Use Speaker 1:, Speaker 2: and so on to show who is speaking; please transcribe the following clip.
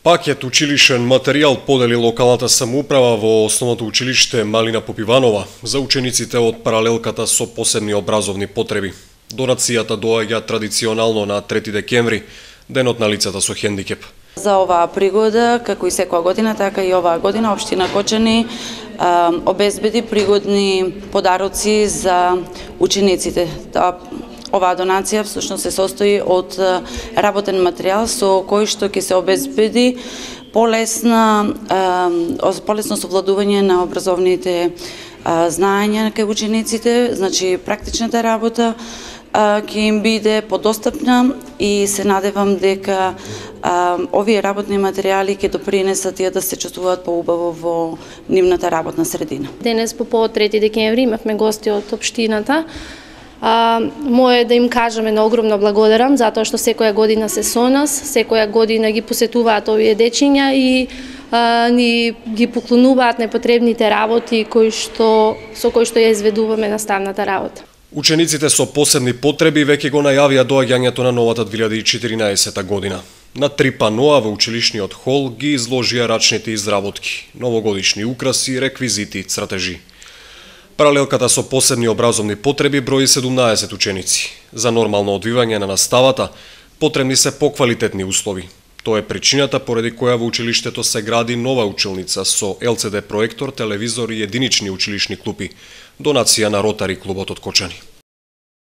Speaker 1: Пакет училишен материјал подели локалната самоуправа во основното училиште Малина Попиванова за учениците од паралелката со посебни образовни потреби. Донацијата доаѓа традиционално на 3 декември, денот на лицата со хендикеп.
Speaker 2: За оваа пригода, како и секоја година, така и оваа година, општина Кочани обезбеди пригодни подароци за учениците. Оваа донација всушност се состои од работен материјал со кој што ќе се обезбеди полесно совладување на образовните знаења кај учениците, значи практичната работа ќе им биде подостапна и се надевам дека овие работни материјали ќе допринесат тие да се чувствуваат поубаво во нивната работна средина.
Speaker 3: Денес по повод 3 декември имавме гости од општината. Мое да им кажеме на огромно благодарам затоа што секоја година се со нас, секоја година ги посетуваат овие дечиња и ни ги поклонуваат непотребните работи со кои што ја изведуваме наставната работа.
Speaker 1: Учениците со посебни потреби веќе го најавија доаѓањето на новата 2014 година. На 3 паноа во училишниот хол ги изложија рачните изработки, новогодишни украси, реквизити, цратежи. Паралелката со посебни образовни потреби брои 17 ученици. За нормално одвивање на наставата потребни се поквалитетни услови. Тоа е причината поради која во училиштето се гради нова училница со LCD проектор, телевизор и единични училишни клупи, донација на Ротари клубот од Кочани.